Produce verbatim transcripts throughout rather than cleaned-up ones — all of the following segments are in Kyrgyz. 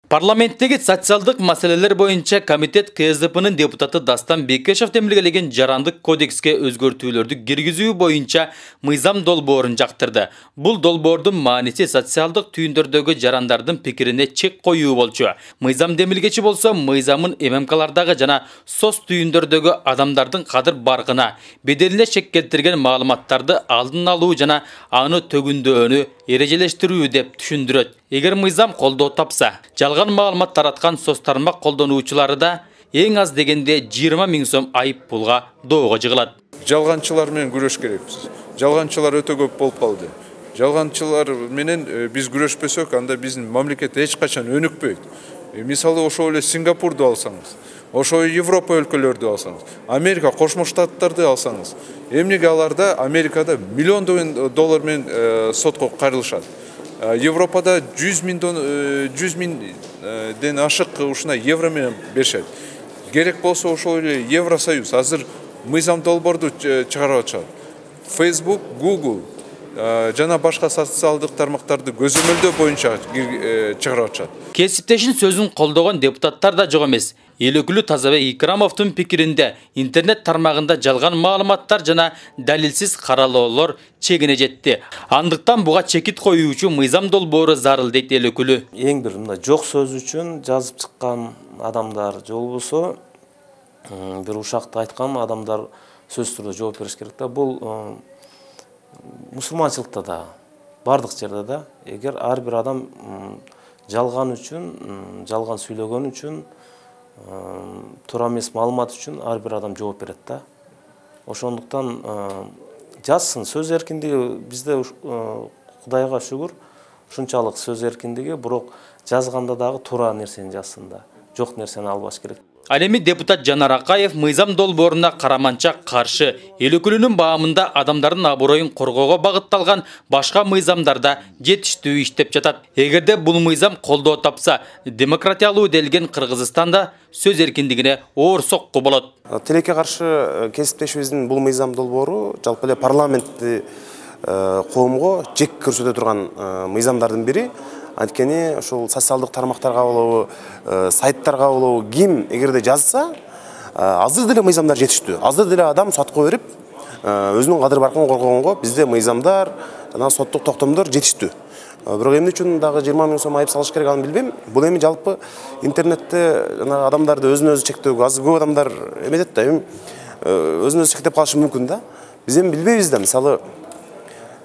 Парламенттеги социалдык маселелер боюнча комитет К С D P'нын депутаты Дастан Бекешев демилгелеген жарандык кодекске өзгөртүүлөрдү киргизүү боюнча мыйзам долбоорун жактырды. Бул долбоордун мааниси социалдык түйүндөрдөгү жарандардын пикирине чек коюу болчу. Мыйзам демилгечи болсо мыйзамын эм эм калардагы жана соц түйүндөрдөгү адамдардын кадыр баркына, беделине шек келтирген маалыматтарды алдын алуу жана аны төгүндөөнү эрежелештирүү деп түшүндүрөт. Эгер мыйзам колдоо тапса, жалган маалымат тараткан соц тармак колдонуучулары да эң аз дегенде жыйырма миң сом айып пулга доого жыгылат. Жалганчылар менен күрөш керекпиз. Жалганчылар өтө көп болуп калды. Жалганчылар менен биз күрөшпөсөк, анда биздин мамлекет эч качан өнүкпөйт. Мисалы ошол эле Сингапурду алсаңыз, ошол Европа өлкөлөрдү алсаңыз, Америка Кошмо Штаттарды алсаңыз, эмнеге аларда Америкада миллиондогон доллар менен сотко кайрылышат. Европада жүз миңден ашык ушуна евро менен беришет. Керек болсо ошол эле Евросоюз азыр мыйзам долбоорду чыгарып атышат. Facebook, Google жана башка социалдык тармактарды көзөмөлдөө боюнча чыгарып атышат. Кесиптешин сөзүн колдогон депутаттар да жок эмес. Эл өкүлү Тазабек Икрамовдун пикиринде интернет тармагында жалган маалыматтар жана далилсиз каралоолор чегине жетти. Андыктан буга чекит коюучу мыйзам долбоору зарыл дейт эл өкүлү. Эң бир мындай жок сөз үчүн жазып чыккан адамдар же болбосо бир ушакты айткан адамдар сөзсүз түрдө жооп бериш керек да. Бул мусулманчылыкта да, бардык жерде да, эгер ар бир адам жалган үчүн, жалган сүйлөгөн үчүн, туура эмес маалымат үчүн ар бир адам жооп берет да. Ошондуктан жазсын, сөз эркиндиги бизде Кудайга шүгүр, ушунчалык сөз эркиндиги, бирок жазганда дагы туура нерсени жазсын да, жок нерсени албаш керек. Ал эми депутат Жанар Акаев мыйзам долбооруна караманча каршы. Эл өкүлүнүн баамында адамдардын аброюн коргоого багытталган башка мыйзамдарда жетиштүү иштеп жатат. Эгерде бул мыйзам колдоо тапса, демократиялуу делген Кыргызстанда сөз эркиндигине оор сокку болот. Тилекке каршы кесиптешибиздин бул мыйзам долбоору жалпы эле парламентти коомго жек көрсөтө турган мыйзамдардын бири. Анткени ошол социалдык тармактарга болобу, сайттарга болобу ким эгерде жазса, азыр деле мыйзамдар жетиштүү. Азыр деле адам сотко берип, өзүнүн кадыр баркын коргогонго бизде мыйзамдар жана соттук токтомдор жетиштүү. Бирок эмне үчүн дагы жыйырма миң сом айып салыш керек аны билбейм. Бул эми жалпы интернетте жана адамдарды өзүн өзү чектөөгө азыр көп адамдар эметет да, эми өзүн өзү чектеп калышы мүмкүн да. Биз эми билбейбиз да, мисалы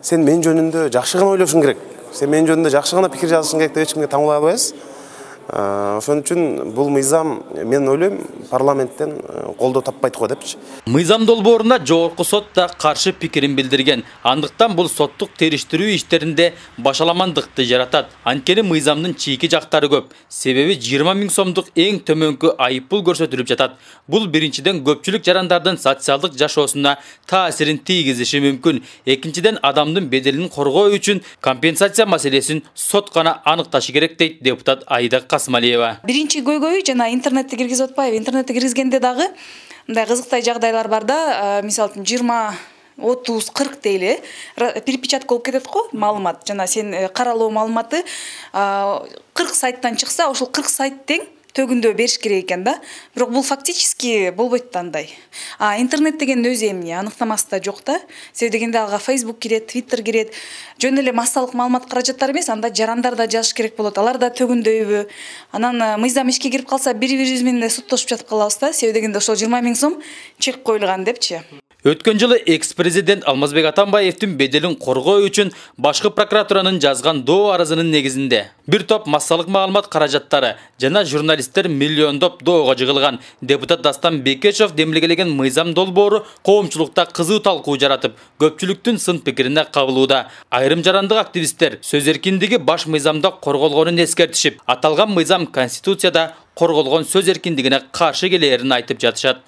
сен мен жөнүндө жакшы гана ойлошуң керек. Сен мен жөнүндө жакшы гана пикир жазышың керек деп эч кимге таңуулай албайбыз. Ошон үчүн бул мыйзам мен ойлойм парламенттен колдоо таппайт го депчи. Мыйзам долбооруна жогорку сот да каршы пикирин билдирген. Андыктан бул соттук териштирүү иштеринде башаламандыкты жаратат. Анткени мыйзамдын чийки жактары көп. Себеби жыйырма миң сомдук эң төмөнкү айып пул көрсөтүлүп жатат. Бул биринчиден көпчүлүк жарандардын социалдык жашоосуна таасирин тийгизиши мүмкүн. Экинчиден адамдын беделин коргоо үчүн компенсация маселесин сот гана аныкташы керек дейт депутат Айда Биринчи көйгөйү жана интернетти киргизип атпайбы. Интернетти киргизгенде дагы мындай кызыктай жагдайлар бар да, мисалы жыйырма, отуз, кырк дейли, перепечатка болуп кетет го маалымат. Жана сен каралоо маалыматы кырк сайттан чыкса, ошол кырк сайт тең төгүндө бериш керек экен да. Бирок бул фактически болбойт да андай. А интернет деген өзү эмне аныктамасы да жок да. Себеби дегенде ага Facebook кирет, Twitter кирет. Жөн эле массалык маалымат каражаттары эмес, анда жарандар да жазыш керек болот. Алар да төгүндөйбү? Анан мыйзам ишке кирип калса, бири-бирибиз менен суттошуп жатып калабыз да. Себеби дегенде ошол жыйырма миң сом чек коюлган депчи. Өткөн жылы экс-президент Алмазбек Атамбаевдин беделин коргоо үчүн башкы прокуратуранын жазган доо арызынын негизинде бир топ массалык маалымат каражаттары жана журналисттер миллиондоп доого жыгылган. Депутат Дастан Бекешев демилгелеген мыйзам долбоору коомчулукта кызуу талкуу жаратып, көпчүлүктүн сын пикирине кабылууда. Айрым жарандык активисттер сөз эркиндиги баш мыйзамда корголгонун эскертишип, аталган мыйзам Конституцияда корголгон сөз эркиндигине каршы келээрин айтып жатышат.